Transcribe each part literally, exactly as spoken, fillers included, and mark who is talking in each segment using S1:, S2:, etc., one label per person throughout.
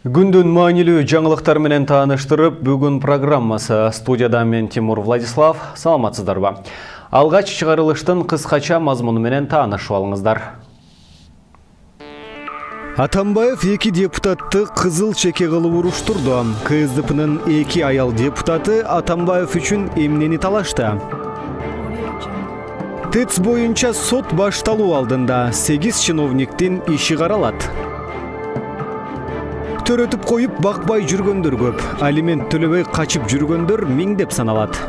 S1: Күндүн маанилүү жаңылыктар менен тааныштырып, бүгүн программасы. Студияда мен Тимур Владислав. Саламатсыздарбы? Алгач чыгарылыштын кыскача мазмуну менен таанышып алыңыздар. Атамбаев эки депутатты кызыл чеке кылып уруштурду. КСДПнын эки аял депутаты Атамбаев үчүн эмнени талашты? ТЭЦ боюнча сот башталуу алдында сегиз чиновниктин иши каралат. Төрөтүп коюп бакпай жүргөндөр көп, алимент төлөбөй качып жүргөндөр миңдеп саналат.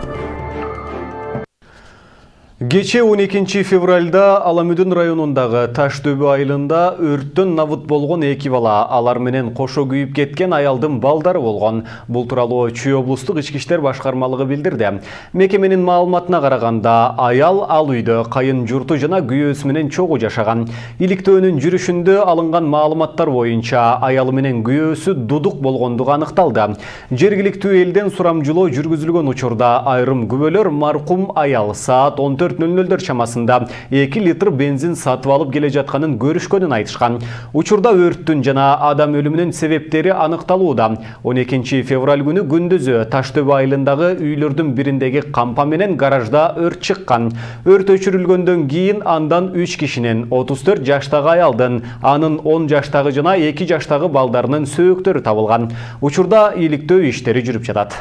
S1: Кече он экинчи февралда Аламүдүн районундагы Таштөбө айылында өрттөн набыт болгон эки бала, алар менен кошо күйүп кеткен аялдын балдары болгон. Бул тууралуу Чүй облустук ички иштер башкармалыгы билдирди. Мекеменин маалыматына караганда, аял ал үйдө кайын журту жана күйөөсү менен чогуу жашаган. Иликтөөнүн жүрүшүндө алынган маалыматтар боюнча аялы менен күйөөсү дудук болгондугу аныкталды. Жергиликтүү элден сурамжылоо жүргүзүлгөн учурда айрым күбөлөр маркум аял саат он төрт нөл нөлдөр чамасында эки литр бензин сатып алып келе жатканын көрүшкөнүн айтышкан. Учурда өрттүн жана адам өлүмүнүн себептери аныкталууда. он экинчи февраль күнү күндүзү Таштөбө айылындагы үйлөрдүн бириндеги кампа менен гаражда өрт чыккан. Өрт өчүрүлгөндөн кийин андан үч кишинин отуз төрт жаштагы аялдын, анын он жаштагы жана эки жаштагы балдарынын сөөктөрү табылган. Учурда иликтөө иштери жүрүп жатат.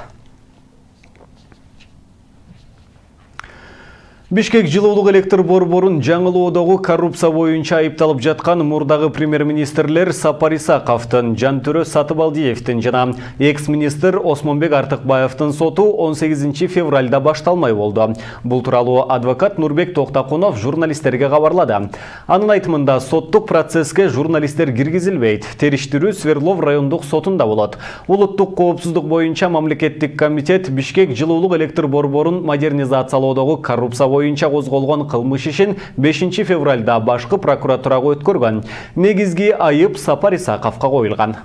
S1: Бишкек жылуулук электр борборун жаңылоодогу коррупция боюнча айыпталып жаткан мурдагы премьер-министрлер Сапар Исаковдун, Жантөрө Сатыбалдиевдин жана экс-министр Осмонбек Артыкбаевдин соту он сегизинчи февралда башталмай болду. Бул тууралуу адвокат Нурбек Токтакунов журналисттерге кабарлады. Анын айтымында соттук процесске журналисттер киргизилбейт. Териштирүү Свердлов райондук сотунда болот. Улуттук коопсуздук боюнча мамлекеттик комитет Бишкек жылуулук электр борборун модернизациялоодогу коррупция боюнча козголгон кылмыш ишин бешинчи февралда башкы прокуратурага өткөргөн. Негизги айып Сапар Исаковго коюлган.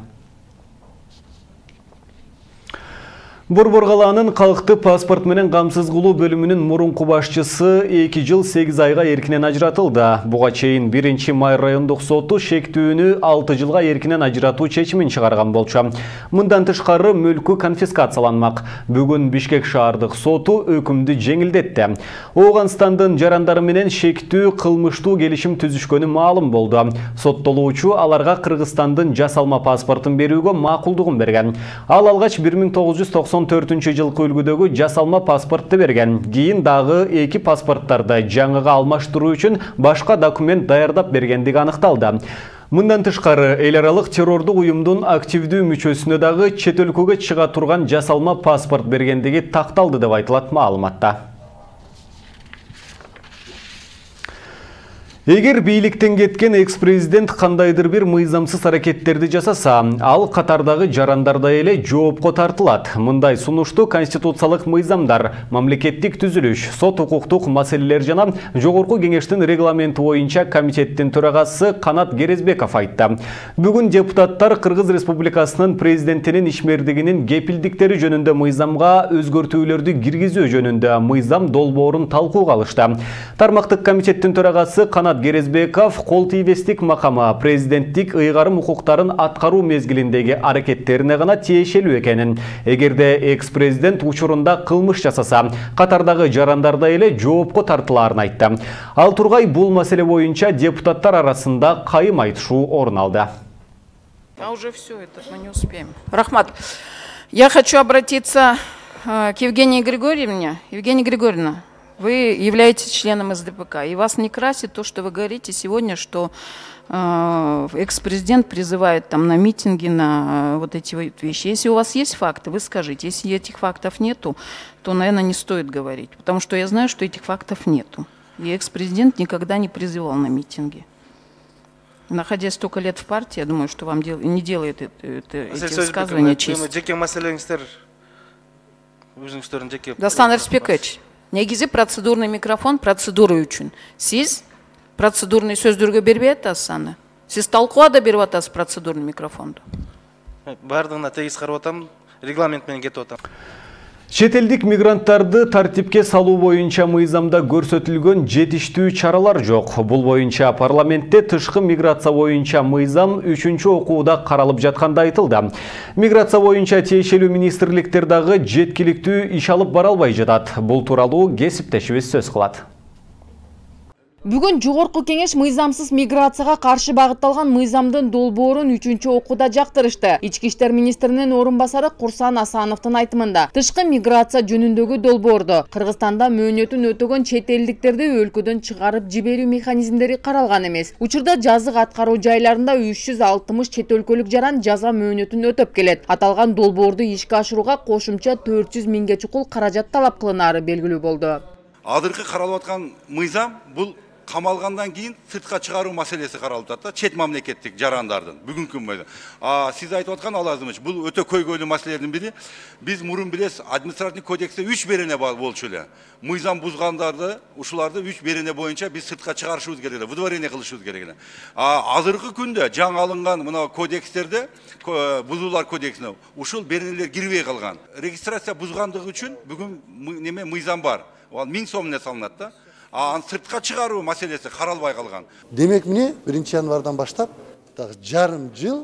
S1: Борбор калаанын калкты паспорт менен камсыз кылуу бөлүмүнүн мурунку башчысы эки жыл сегиз айга эркинен ажыратылды. Буга чейин биринчи май райондук соту шектүүнү алты жылга эркинен ажыратуу чечимин чыгарган болчу. Мындан тышкары мөлкү конфискацияланмак. Бүгүн Бишкек шаардык соту өкүмдү жеңилдетти. Ооганстандын жарандары менен шектүү кылмыштуу келишим түзүшкөнү маалым болду. Соттолуучу аларга Кыргызстандын жасалма паспортун берүүгө макулдугун берген. Ал алгач бир миң тогуз жүз токсон төртүнчү жылкы үлгүдөгү жасалма паспортты берген. Кийин дагы эки паспорттарды жаңыга алмаштыруу үчүн башка документ даярдап бергендиги аныкталды. Мындан тышкары эл аралык террордук уюмдун активдүү мүчөсүнө дагы чет өлкөгө чыга турган жасалма паспорт бергендиги такталды деп айтылат маалыматта. Эгер бийликтен кеткен экс-президент кандайдыр бир мыйзамсыз аракеттерди жасаса, ал катардагы жарандардай эле жоопко тартылат. Мындай сунушту конституциялык мыйзамдар, мамлекеттик түзүлүш, сот укуктук маселелер жана жогорку кеңештин регламенти боюнча комитеттин төрагасы Канат Керезбеков айтты. Бүгүн депутаттар Кыргыз Республикасынын президентинин ишмердигинин кепилдиктери жөнүндө мыйзамга өзгөртүүлөрдү киргизүү жөнүндө мыйзам долбоорун талкууга алышты. Тармактык комитеттин төрагасы Канат Керезбеков кол тийбестик макама президенттик ыйгарым укуктарын аткаруу мезгилиндеги аракеттерине гана тиешелүү экенин, эгерде экс-президент учурунда кылмыш жасаса, катардагы жарандардай эле жоопко тартылаарын айтты. Ал тургай бул маселе боюнча депутаттар арасында кайым айтышуу орун алды.
S2: А уже все это мы не успеем. Рахмат, я хочу обратиться к Евгении Григорьевне. Евгения Григорьевна, вы являетесь членом эс дэ пэ ка, и вас не красит то, что вы говорите сегодня, что э, экс-президент призывает там на митинги, на э, вот эти вот вещи. Если у вас есть факты, вы скажите. Если этих фактов нету, то, наверное, не стоит говорить, потому что я знаю, что этих фактов нету. И экс-президент никогда не призывал на митинги. Находясь столько лет в партии, я думаю, что вам дел... не делает это, это, эти высказывания честь. Дастан Рыспекович, негизи процедурный микрофон процедура үчүн. Сиз процедурный сөздөргө бербей атасыз аны. Сиз талкуулада берип атасыз процедурный микрофонду.
S3: Бардыгына тегиз карап атам, регламент менен кетип атам.
S1: Чет элдик мигранттарды тартипке салуу боюнча мыйзамда көрсөтүлгөн жетиштүү чаралар жок. Бул боюнча парламентте тышкы миграция боюнча мыйзам үчүнчү окууда каралып жатканда айтылды. Миграция боюнча тиешелүү министрликтер дагы жеткиликтүү иш алып бара албай жатат. Бул тууралуу кесиптешибиз сөз кылат.
S3: Бүгүн жогорку кеңеш мыйзамсыз миграцияга каршы багытталган мыйзамдын долбоорун үчүнчү окууда жактырышты. Ички иштер министринин орун басары Курсан Асановдун айтымында тышкы миграция жөнүндөгү долбоордо Кыргызстанда мөөнөтүн өтөгөн чет элдиктерди өлкөдөн чыгарып жиберүү механизмдери каралган эмес. Учурда жазык аткаруу жайларында үч жүз алтымыш чет өлкөлүк жаран жаза мөөнөтүн өтөп келет. Аталган долбоорду ишке ашырууга кошумча төрт жүз миңге чукул каражат талап кылынаары белгилүү болду.
S4: Азыркы каралып аткан мыйзам бул камалгандан кийин сыртка чыгаруу маселеси каралып атат, чет мамлекеттик жарандардын бүгүнкү мыйзам. А сиз айтып аткан Алазымович, бул өтө көйгөйлүү маселелердин бири. Биз мурун билесиз, административдик кодексте үч берене болчу эле. Мыйзам бузгандарды, ушуларды үч берене боюнча биз сыртка чыгарышыбыз керек эле, выдворение кылышыбыз керек эле. А азыркы күндө жаңы алынган мына кодекстерде, бузуулар кодексине ушул беренелер кирбей калган. Регистрация бузгандыгы үчүн бүгүн неме мыйзам бар. Ал миң сом эле салынат да. А сыртка чыгаруу маселеси каралбай калган.
S5: Демек міне биринчи январдан баштап дагы жарым жыл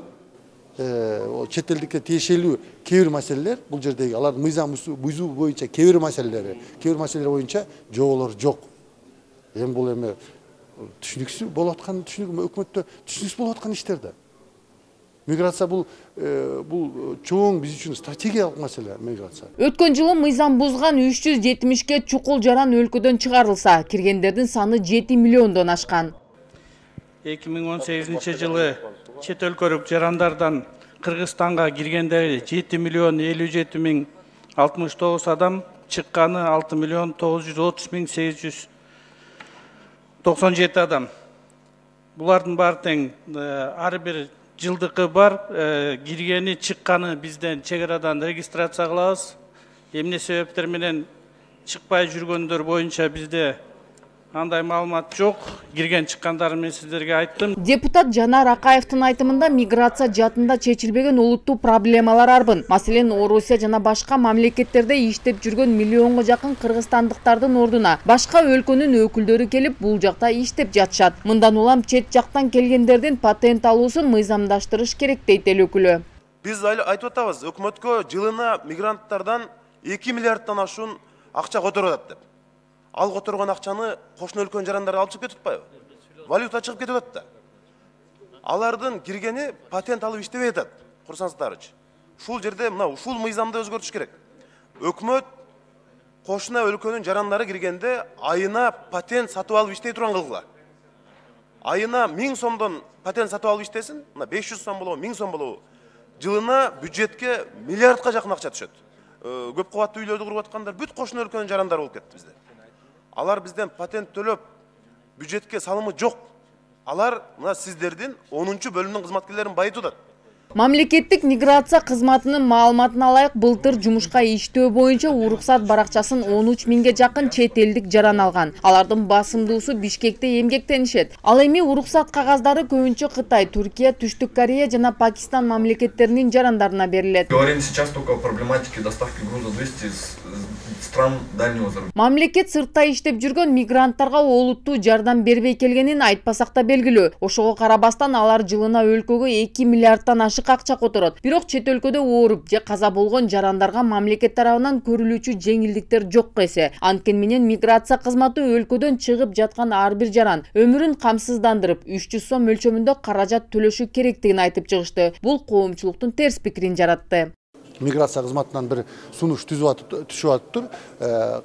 S5: чет элдикке тиешелүү кээ бир маселелер, бул жердеги алардын мыйзам бузуу боюнча кээ бир маселелери, кээ бир маселелер боюнча жоолор жок. Эми бул эми түшүнүксүз болуп аткан, түшүнүк өкмөттө түшүнүксүз болуп аткан иштер да. Миграция бул бул чоң биз үчүн стратегиялык маселе миграция.
S3: Өткөн жылы мыйзам бузган үч жүз жетимишке чукул жаран өлкөдөн чыгарылса, киргендердин саны жети миллиондон ашкан.
S6: эки миң он сегизинчи жылы чет өлкөлүк жарандардан Кыргызстанга киргендери жети миллион элүү жети миң алтымыш тогуз адам, чыкканы алты миллион тогуз жүз отуз миң сегиз жүз токсон жети адам. Булардын баары тең ар бир жылдыкы бар, киргени чыкканы бизден чек арадан регистрация кылабыз. Эмне себептер менен чыкпай жүргөндөр боюнча бизде андай маалымат жок. Кирген чыккандарын мен сиздерге айттым.
S3: Депутат Жанар Акаевдин айтымында миграция жаатында чечилбеген улуттуу проблемалар арбын. Маселен, Орусия жана башка мамлекеттерде иштеп жүргөн миллионго жакын кыргызстандыктардын ордуна башка өлкөнүн өкүлдөрү келип бул жакта иштеп жатышат. Мындан улам чет жактан келгендердин патент алуусун мыйзамдаштырыш керек дейт эл өкүлү.
S7: Биз айтып атабыз, өкмөткө жылына мигранттардан эки миллиарддан ашуун акча которуп атат деп. Ал которгон акчаны кошуна өлкөнүн жарандары алып чыгып кетип атпайбы? Валюта чыгып кетип атат да. Алардын киргени патент алып иштебей атат, курсаңыздарчы. Ушул жерде мына ушул мыйзамды өзгөртүш керек. Өкмөт кошуна өлкөнүн жарандары киргенде айына патент сатып алып иштей турган кылгыла. Айына миң сомдон патент сатып алып иштесин, мына беш жүз сом болобу, миң сом болобу. Жылына бюджетке миллиардка жакын акча түшөт. Көп кабаттуу үйлөрдү куруп аткандар бүт кошуна өлкөнүн жарандары болуп кетти бизде. Алар бизден патент төлөп, бюджетке салымы жок. Алар мына сиздердин онунчу бөлүмдүн кызматкерлерин байытып атат.
S3: Мамлекеттик миграция кызматынын маалыматына ылайык былтыр жумушка иштөө боюнча уруксат баракчасын он үч миңге жакын чет элдик жаран алган. Алардын басымдуусу Бишкекте эмгектенишет. Ал эми уруксат кагаздары көбүнчө Кытай, Түркия, Түштүк Корея жана Пакистан мамлекеттеринин жарандарына берилет.
S8: Говорим сейчас только о проблематике доставки груза двести стран дальнего зарубежья.
S3: Мамлекет сыртта иштеп жүргөн мигранттарга олуттуу жардам бербей келгенин айтпасак да белгилүү. Ошого карабастан алар жылына өлкөгө эки миллиарддан ашык акча которот. Бирок чет өлкөдө ооруп же каза болгон жарандарга мамлекет тарабынан көрүлүүчү жеңилдиктер жок эсе. Анткени менен миграция кызматы өлкөдөн чыгып жаткан ар бир жаран өмүрүн камсыздандырып үч жүз сом өлчөмүндө каражат төлөшү керектигин айтып чыгышты. Бул коомчулуктун терс пикирин жаратты.
S5: Миграция кызматынан бир сунуш түшүп атыптыр.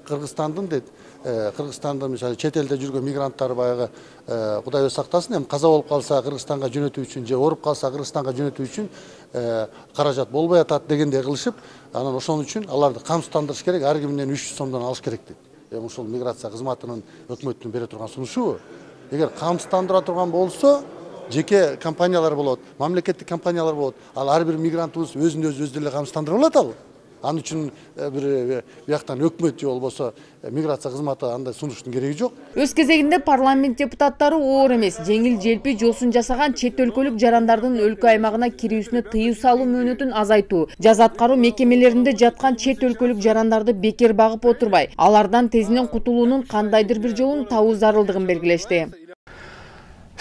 S5: Кыргызстандын дейт, Кыргызстандын мисалы чет элде жүргөн мигранттар баягы Кудай өз сактасын, эми каза болуп калса Кыргызстанга жөнөтүү үчүн же ооруп калса Кыргызстанга жөнөтүү үчүн каражат болбой атат дегендей кылышып, анан ошон үчүн аларды камсыздандырыш керек, ар кимден үч жүз сомдон алыш керек дейт. Эми ушул миграция кызматынын өкмөттүн бере турган сунушу. Эгер камсыздандыра турган болсо, жеке компаниялар болот, мамлекеттик компаниялар болот. Ал ар бир мигрантыбыз өзүн өзү өз деле камсыздандыра алат ал. Ал үчүн бир бияктан өкмөт же болбосо миграция кызматы андай сунуштун кереги жок.
S3: Өз кезегинде парламент депутаттары оор эмес, жеңил желпи жосун жасаган чет өлкөлүк жарандардын өлкө аймагына кирүүсүнө тыюу салуу мөөнөтүн азайтуу, жаза аткаруу мекемелеринде жаткан чет өлкөлүк жарандарды бекер багып отурбай, алардан тезинен кутулуунун кандайдыр бир жолун табуу зарылдыгын белгилешти.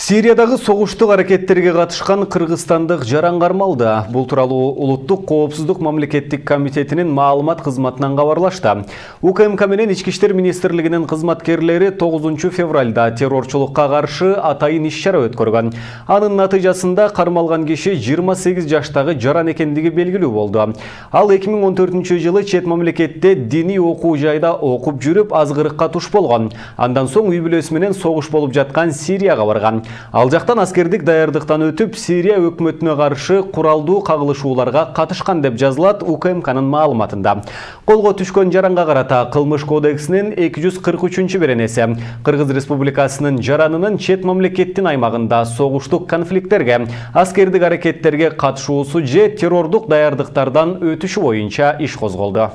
S1: Сириядагы согуштук аракеттерге катышкан кыргызстандык жаран кармалды. Бул тууралуу Улуттук коопсуздук мамлекеттик комитетинин маалымат кызматынан кабарлашты. УКМК менен Ички иштер министрлигинин кызматкерлери тогузунчу февралда террорчулукка каршы атайын иш-чара өткөргөн. Анын натыйжасында кармалган киши жыйырма сегиз жаштагы жаран экендиги белгилүү болду. Ал эки миң он төртүнчү жылы чет мамлекетте диний окуу жайда окуп жүрүп азгырыкка туш болгон. Андан соң үй бүлөсү менен согуш болуп жаткан Сирияга барган. Ал жактан аскердик даярдыктан өтүп, Сирия өкмөтүнө каршы куралдуу кагылышууларга катышкан деп жазылат УКМКнын маалыматында. Колго түшкөн жаранга карата Кылмыш кодексинин эки жүз кырк үчүнчү беренеси Кыргыз Республикасынын жаранынын чет мамлекеттин аймагында согуштук конфликттерге, аскердик аракеттерге катышуусу же террордук даярдыктардан өтүшү боюнча иш козголду.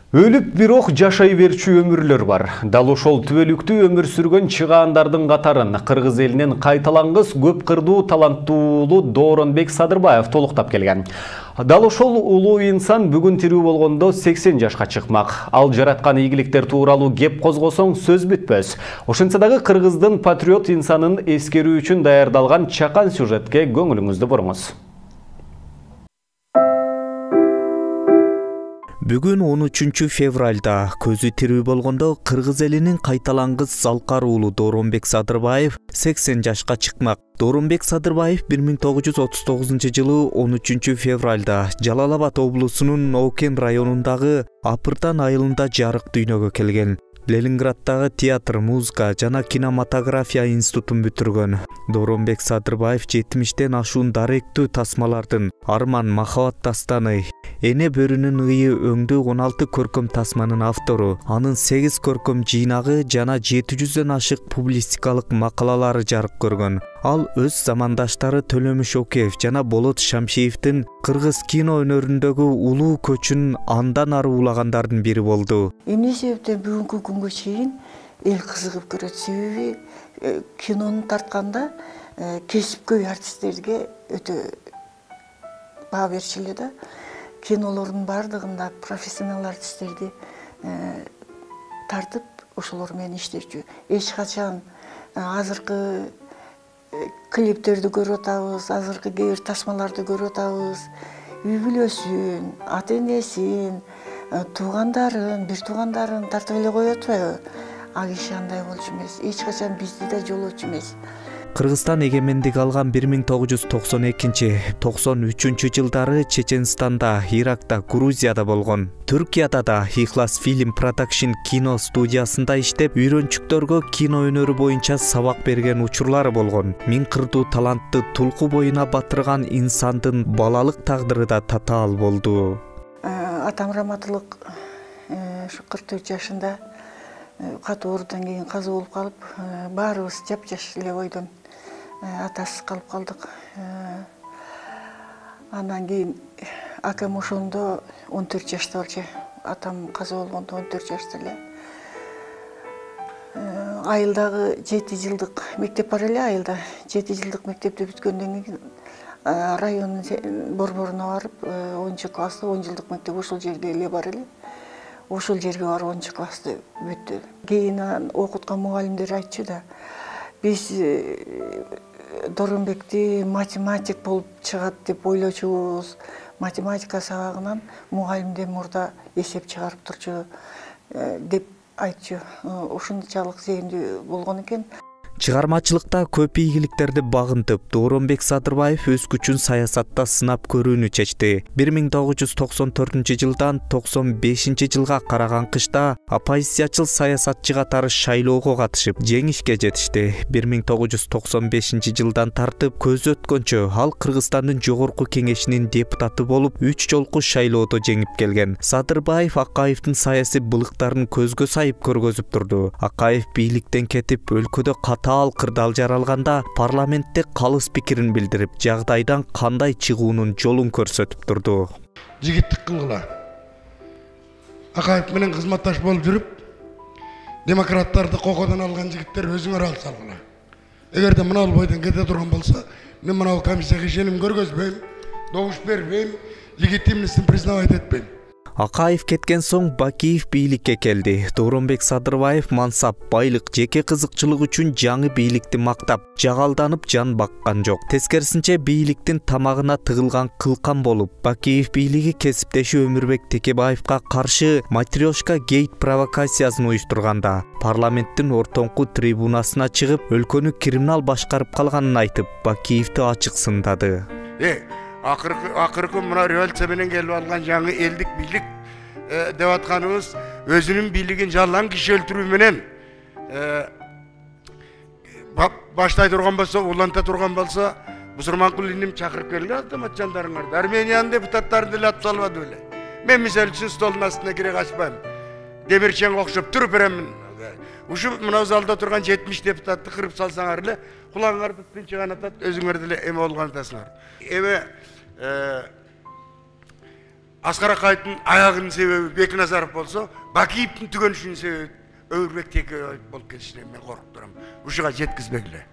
S1: Өлүп бирок жашай берчү өмүрлөр бар. Дал ошол түбөлүктүү өмүр сүргөн чыгаандардын катарын кыргыз элинин кайталангыс көп кырдуу таланттуулу Дооронбек Садырбаев толуктап келген. Дал ошол улуу инсан бүгүн тирүү болгондо сексен жашка чыкмак. Ал жараткан ийгиликтер тууралуу кеп козгосоң сөз бүтпөс. Ошентсе дагы кыргыздын патриот инсанын эскерүү үчүн даярдалган чакан сюжетке көңүлүңүздү буруңуз.
S9: Бүгүн он үчүнчү февралда көзү тирүү болгондо кыргыз элинин кайталангыс залкар уулу Дооронбек Садырбаев сексен жашка чыкмак. Дооронбек Садырбаев бир миң тогуз жүз отуз тогузунчу жылы он үчүнчү февралда Жалал Абад облусунун Ноукен районундагы Апыртан айылында жарык дүйнөгө келген. Ленинградтагы театр, музыка жана кинематография институтун бүтүргөн. Дооронбек Садырбаев жетимиштен ашуун даректүү тасмалардын Арман махабат дастаны, Эне бөрүнүн ыйы өңдүү он алты көркөм тасманын автору. Анын сегиз көркөм жыйнагы жана жети жүздөн ашык публистикалык макалалары жарык көргөн. Ал өз замандаштары Төлөмүш Океев жана Болот Шамшиевдин кыргыз кино өнөрүндөгү улуу көчүн андан ары улагандардын бири болду.
S10: Эмне себептен бүгүнкү күнгө чейин эл кызыгып көрөт? Себеби кинону тартканда кесипкөй артисттерге өтө баа берчү да. Кинолордун бардыгында профессионал артисттерди тартып, ошолор менен иштечү. Эч качан азыркы клиптерди көрүп атабыз, азыркы кээ бир тасмаларды көрүп атабыз. Үй бүлөсүн, ата энесин, туугандарын, бир туугандарын тартып эле коюп атпайбы? Ал киши андай болчу эмес. Эч качан бизди да жолочу эмес.
S9: Кыргызстан эгемендик алган бир миң тогуз жүз токсон экинчи — токсон үчүнчү жылдары Чеченстанда, Иракта, Грузияда болгон. Түркияда да Ихлас Film Production кино студиясында иштеп, үйрөнчүктөргө кино өнөрү боюнча сабак берген учурлары болгон. Миң кырдуу талантты тулку боюна батырган инсандын балалык тагдыры да татаал болду.
S10: Атам раматылык ушу кырк төрт жашында катуу оорудан кийин каза болуп калып, баарыбыз жапжаш эле бойдон атасыз калып калдык. Андан кийин акам ошондо он төрт жашта болчу. Атам каза болгондо он төрт жашта эле. Айылдагы жети жылдык мектеп бар эле, айылда жети жылдык мектепти бүткөндөн кийин райондун борборуна барып, онунчу класста он жылдык мектеп ошол жерге эле бар эле. Ошол жерге барып онунчу классты бүттү. Кийин окуткан мугалимдер айтчу да, биз Дооронбекти математик болуп чыгат деп ойлочубуз. Математика сабагынан мугалимден мурда эсеп чыгарып турчу деп айтчу. Ушунчалык зээндүү болгон экен.
S9: Чыгармачылыкта көп ийгиликтерди багынтып, Дооронбек Садырбаев өз күчүн саясатта сынап көрүүнү чечти. бир миң тогуз жүз токсон төртүнчү жылдан токсон бешинчи жылга караган кышта оппозициячыл саясатчы катары шайлоого катышып, жеңишке жетишти. бир миң тогуз жүз токсон бешинчи жылдан тартып көзү өткөнчө ал Кыргызстандын жогорку кеңешинин депутаты болуп, үч жолку шайлоодо жеңип келген. Садырбаев Акаевдин саясий былыктарын көзгө сайып көргөзүп турду. Акаев бийликтен кетип, өлкөдө ката таал кырдаал жаралганда парламентте калыс пикирин билдирип, жагдайдан кандай чыгуунун жолун көрсөтүп турду.
S11: Жигиттик кылгыла. Акаев менен кызматташ болуп жүрүп, демократтарды кокодон алган жигиттер өзүңөр ал салгыла. Эгерде мына бойдон кете турган болсо, мен мына комиссияга ишеним көргөзбөйм, добуш бербейм, легитимностун признавать этпейм.
S9: Акаев кеткен соң Бакиев бийликке келди. Дооронбек Садырбаев мансап, байлык, жеке кызыкчылык үчүн жаңы бийликти мактап, жагалданып жан баккан жок. Тескерисинче бийликтин тамагына тыгылган кылкан болуп, Бакиев бийлиги кесиптеши Өмүрбек Текебаевка каршы матрешка гейт провокациясын уюштурганда, парламенттин ортоңку трибунасына чыгып, өлкөнү криминал башкарып калганын айтып, Бакиевди ачык сындады.
S11: Э, акыркы акыркы мына революция менен келип алган жаңы элдик бийлик деп атканыбыз өзүнүн бийлигин жалаң киши өлтүрүү менен баштай турган болсо, уланта турган болсо, Бусурманкул иним чакырып келди автомат жандарыңарды. Армениянын депутаттарын деле атып салбады беле. Мен мисалы үчүн столдун астына кире качпайм. Демирченге окшоп туруп беремин. Ушу мына залда турган жетимиш депутатты кырып салсаңар эле, кулагыңарды тынчыган атат, өзүңөр деле эме болгон атасыңар. Эме Аскар Акаевдин аягынын себеби Бекназаров болсо, Бакиевдин түгөнүшүнүн себеби Өмүрбек Текебаев болуп кетишинен мен коруп турам. Ушуга жеткизбегиле.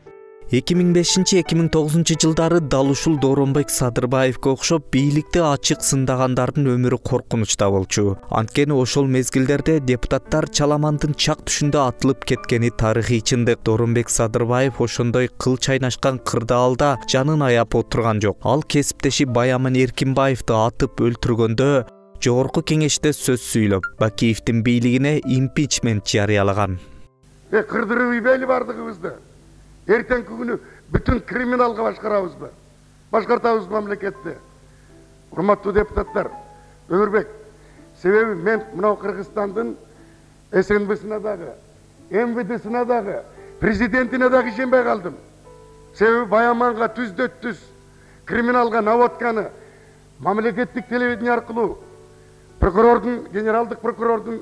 S9: эки миң бешинчи — эки миң тогузунчу жылдары дал ушул Дооронбек Садырбаевге окшоп бийликти ачык сындагандардын өмүрү коркунучта болчу. Анткени ошол мезгилдерде депутаттар Чаламандын чак түшүндө атылып кеткени тарыхый чындык. Дооронбек Садырбаев ошондой кыл чайнашкан кырдаалда жанын аяп отурган жок. Ал кесиптеши Баяман Эркинбаевди атып өлтүргөндө Жогорку Кеңеште сөз сүйлөп, Бакиевдин бийлигине импичмент жарыялаган.
S11: Э, кырдырып ийбейли бардыгыбызды. Эртеңки күнү бүтүн криминалга башкарабызбы? Башкартабызбы мамлекетти? Урматтуу депутаттар, Өмүрбек, себеби мен мына Кыргызстандын эс эн бсине дагы, эм вэ десине дагы, президентине дагы ишенбей калдым. Себеби Баяманга түздө түз криминалга наводканы мамлекеттик телевидение аркылуу прокурордун, генералдык прокурордун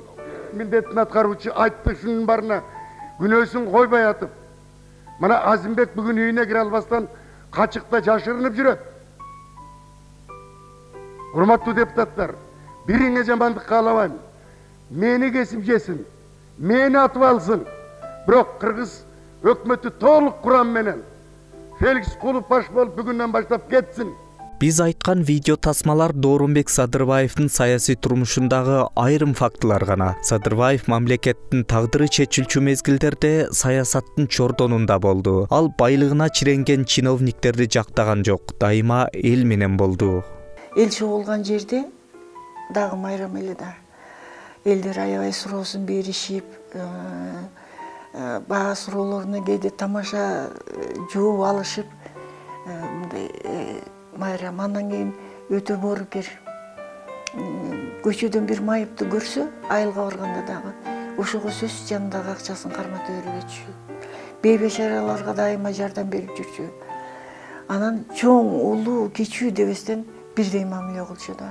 S11: милдетин аткаруучу айтты, шунун барына күнөөсүн койбой атып, мына Азимбек бүгүн үйүнө кире албастан качыкта жашырынып жүрөт. Урматтуу депутаттар, бириңе жамандык каалабайм. Мени кесип жесин, мени атып алсын. Бирок Кыргыз өкмөтү толук курам менен Феликс Кулов баш болуп бүгүндөн баштап кетсин.
S9: Биз айткан видео тасмалар Дооронбек Садырбаевдин саясий турмушундагы айрым фактылар гана. Садырбаев мамлекеттин тагдыры чечилчү мезгилдерде саясаттын чордонунда болду. Ал байлыгына чиренген чиновниктерди жактаган жок, дайыма эл менен болду.
S10: Эл чогулган жерде дагы майрам эле да. Элдер аябай суроосун беришип, баа суроолоруна кээде тамаша жооп алышып, мындай майрам. Андан кийин өтө боорукер. Көчөдөн бир майыпты көрсө, айылга барганда дагы ошого сөз жанындагы акчасын кармата бербечү. Бейбечараларга дайыма жардам берип жүрчү. Анан чоң, улуу, кичүү дебестен бирдей мамиле кылчу да.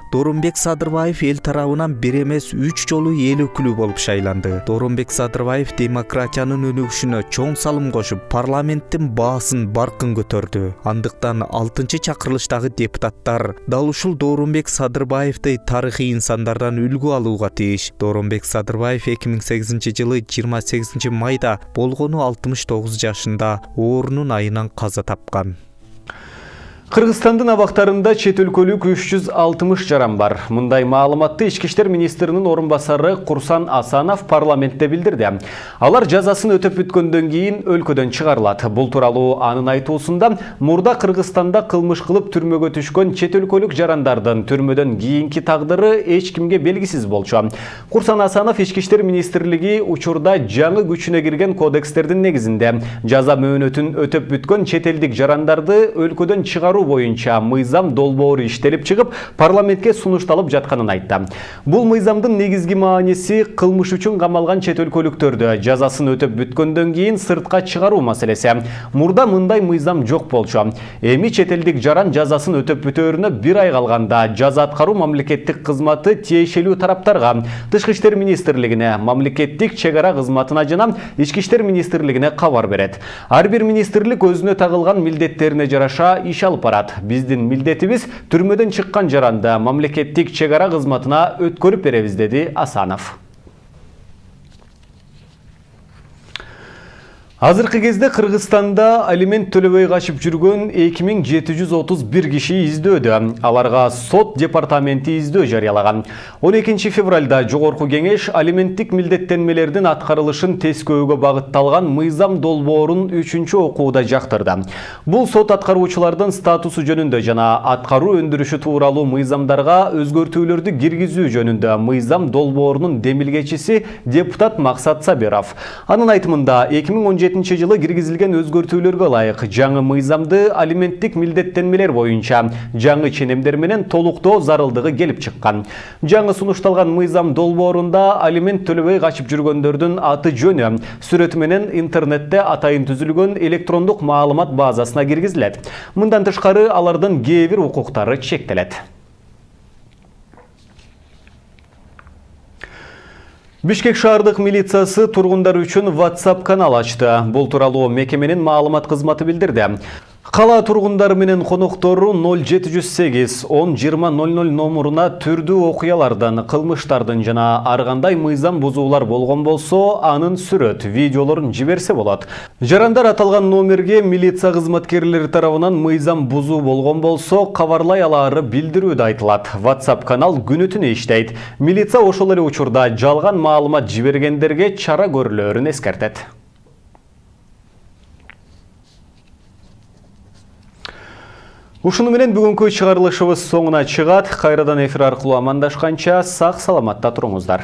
S9: Дооронбек Садырбаев эл тарабынан бир эмес үч жолу эл өкүлү болуп шайланды. Дооронбек Садырбаев демократиянын өнүгүшүнө чоң салым кошуп, парламенттин баасын баркын көтөрдү. Андыктан алтынчы чакырылыштагы депутаттар дал ушул Дооронбек Садырбаевди тарыхый инсандардан үлгү алууга тийиш. Дооронбек Садырбаев эки миң сегизинчи жылы жыйырма сегизинчи майда болгону алтымыш тогуз жашында оорунун айынан каза тапкан.
S1: Кыргызстандын абактарында чет өлкөлүк үч жүз алтымыш жаран бар. Мындай маалыматты Ички иштер министринин орун басары Курсан Асанов парламентте билдирди. Алар жазасын өтөп бүткөндөн кийин өлкөдөн чыгарылат. Бул тууралуу анын айтуусунда мурда Кыргызстанда кылмыш кылып түрмөгө түшкөн чет өлкөлүк жарандардын түрмөдөн кийинки тагдыры эч кимге белгисиз болчу. Курсан Асанов Ички иштер министрлиги учурда жаңы күчүнө кирген кодекстердин негизинде жаза мөөнөтүн өтөп бүткөн чет элдик жарандарды өлкөдөн чыгаруу чыгаруу боюнча мыйзам долбоору иштелип чыгып, парламентке сунушталып жатканын айтты. Бул мыйзамдын негизги мааниси кылмыш үчүн камалган чет өлкөлүктөрдү жазасын өтөп бүткөндөн кийин сыртка чыгаруу маселеси. Мурда мындай мыйзам жок болчу. Эми чет элдик жаран жазасын өтөп бүтөөрүнө бир ай калганда жаза аткаруу мамлекеттик кызматы тиешелүү тараптарга, Тышкы иштер министрлигине, мамлекеттик чегара кызматына жана Ички иштер министрлигине кабар берет. Ар бир министрлик өзүнө тагылган милдеттерине жараша иш алып барат. Биздин милдетибиз түрмөдөн чыккан жаранды мамлекеттик чегара кызматына өткөрүп беребиз, деди Асанов. Азыркы кезде Кыргызстанда алимент төлөбөй качып жүргөн эки миң жети жүз отуз бир киши издөөдө. Аларга сот департаменти издөө жарыялаган. он экинчи февралда Жогорку кеңеш алименттик милдеттенмелердин аткарылышын тескөөгө багытталган мыйзам долбоорун үчүнчү окууда жактырды. Бул сот аткаруучулардын статусу жөнүндө жана аткаруу өндүрүшү тууралуу мыйзамдарга өзгөртүүлөрдү киргизүү жөнүндө мыйзам долбоорунун демилгечиси депутат Максат Сабиров. Анын айтымында эки миң он жетинчи жылы киргизилген өзгөртүүлөргө ылайык жаңы мыйзамды алименттик милдеттенмелер боюнча жаңы ченемдер менен толуктоо зарылдыгы келип чыккан. Жаңы сунушталган мыйзам долбоорунда алимент төлөбөй качып жүргөндөрдүн аты жөнү, сүрөтү менен интернетте атайын түзүлгөн электрондук маалымат базасына киргизилет. Мындан тышкары алардын кээ бир укуктары чектелет. Бишкек шаардык милициясы тургундар үчүн WhatsApp канал ачты. Бул тууралуу мекеменин маалымат кызматы билдирди. Кала тургундары менен коноктору ноль жети жүз сегиз он жыйырма ноль ноль номуруна түрдүү окуялардан, кылмыштардын жана ар кандай мыйзам бузуулар болгон болсо, анын сүрөт, видеолорун жиберсе болот. Жарандар аталган номерге милиция кызматкерлери тарабынан мыйзам бузуу болгон болсо, кабарлай алаары билдирүүдө айтылат. WhatsApp канал күнү түнү иштейт. Милиция ошол эле учурда жалган маалымат жибергендерге чара көрүлөөрүн эскертет. Ушуну менен бүгүнкү чыгарылышыбыз соңуна чыгат. Кайрадан эфир аркылуу амандашканча сак саламатта туруңуздар.